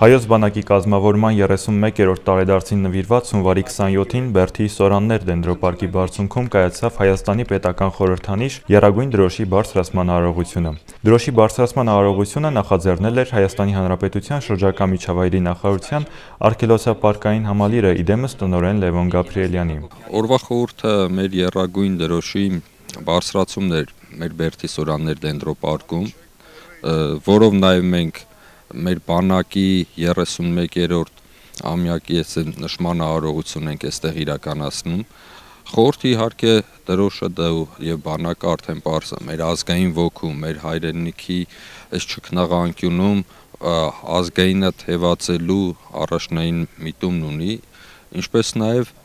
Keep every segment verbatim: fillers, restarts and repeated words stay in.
Հայոց բանակի կազմավորման երեսունմեկերորդ տարեդարձին նվիրված հունվարի քսանյոթին Բերդի Սորաններ դենդրոպարկի բարձունքում կայացավ Հայաստանի պետական խորհրդանիշ եռագույն դրոշի բարձրացման արարողությունը։ Դրոշի բարձրացման արարողությունը նախաձեռնել էր Հայաստանի Հանրապետության շրջակա միջավայրի նախարարության արգելոցապարկային համալիրը, իդեմս տնօրեն Լևոն Գաբրիելյանի։ Օրվա խորհուրդը մեր եռագույն դրոշի բարձրացումն էր մեր Բերդի Սորաններ դենդրոպարկում, որով նաև մենք մեր բանակի երեսունմեկերորդ ամյակի նշման արարողություն ենք այստեղ իրականացնում։ Խորհրդի իհարկե դրոշը եւ բանակը արդեն պարզ է, մեր ազգային ոգու, մեր հայրենիքի այս ճգնաղանկյունում ազգայինը թևածելու առաջնային միտումն ունի, ինչպես նաև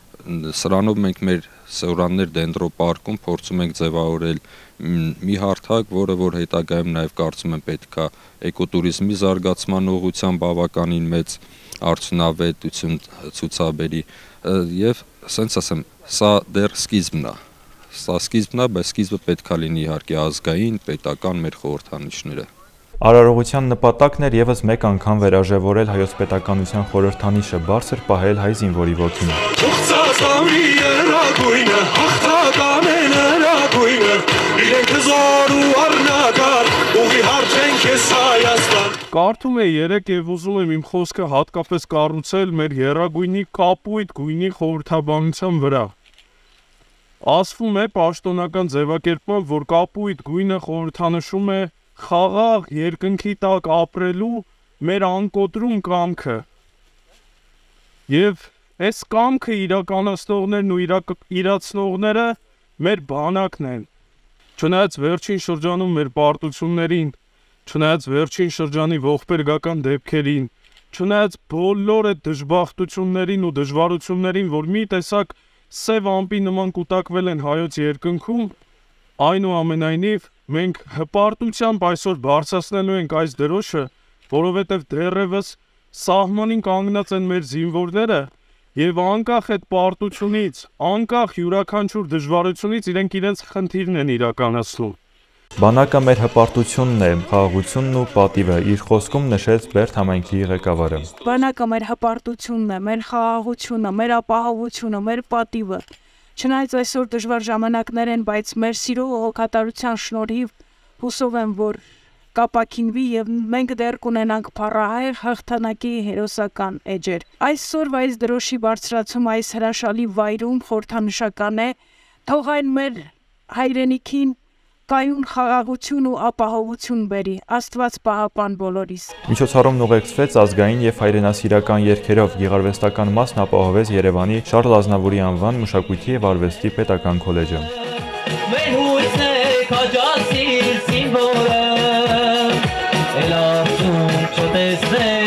սրանով մենք մեր Սորաններ դենդրոպարկում փորձում ենք ձևավորել մի հարթակ, որը որ հետագայում նաև կարծում եմ պետք է էկոտուրիզմի զարգացման ուղղությամբ բավականին մեծ արդյունավետություն ցուցաբերի եւ ասենց ասեմ, սա դեռ սկիզբն է, սա սկիզբն է, բայց սկիզբը պետք է լինի իհարկե ազգային, պետական մեր խորհրդանիշները։ Արարողության նպատակն էր եւս մեկ անգամ վերաժևորել հայոց պետականության խորհրդանիշը, բարձր պահել հայ զինվորի ոգին։ Կարդում էի երեկ եւ ուզում եմ իմ խոսքը հատկապես կառուցել մեր եռագույնի կապույտ գույնի խորհրդաբանության վրա։ Ասվում է պաշտոնական ձևակերպմամբ, որ կապույտ գույնը խորհրդանշում է խաղաղ երկնքի տակ ապրելու մեր անկոտրում կամքը։ Եվ այս կամքը իրականացնողներն ու իրացնողները մեր բանակն են։ Չնայած վերջին շրջանում մեր պարտություններին, չնայած վերջին շրջանի ողբերգական դեպքերին, չնայած բոլոր այդ դժբախտություններին ու դժվարություններին, որ մի տեսակ սև ամպի նման կուտակվել են հայոց երկնքում, այնուամենայնիվ մենք հպարտությամբ այսօր բարձրացնելու ենք այս դրոշը, որովհետև դեռևս սահմանին կանգնած են մեր զինվորները եւ անկախ այդ պարտությունից, անկախ յուրաքանչյուր դժվարությունից իրենք իրենց խնդիրն են իրականացնում։ Բանակը մեր հպարտությունն է, խաղաղությունն ու պատիվը, իր խոսքում նշեց Բերդ համայնքի ղեկավարը։ Բանակը մեր հպարտությունն է, մեր խաղաղությունը, մեր ապահովությունը, մեր պատիվը։ Չնայած այսօր դժվար ժամանակներ են, բայց մեր սիրո ու հոգատարության շնորհիվ հուսով եմ, որ կապակինվի եւ մենք դեռ կունենանք փառահեղ հաղթանակի հերոսական էջեր։ Այսօրվա այս դրոշի բարձրացում այս հրաշալի վայրում խորհրդանշական է, թող այն մեր հայրենիքին կայուն խաղաղություն ու ապահովություն բերի, Աստված պահապան բոլորիս։ Միջոցառումն ուղեկցվեց ազգային եւ հայրենասիրական երգերով, գեղարվեստական մասն ապահովեց Երևանի Շարլ Ազնավուրի անվան մշակույթի եւ արվեստի պետական քոլեջը։ Մեր հույսն է քաջասիր զինվորը, էլ արդյունք չտեսնենք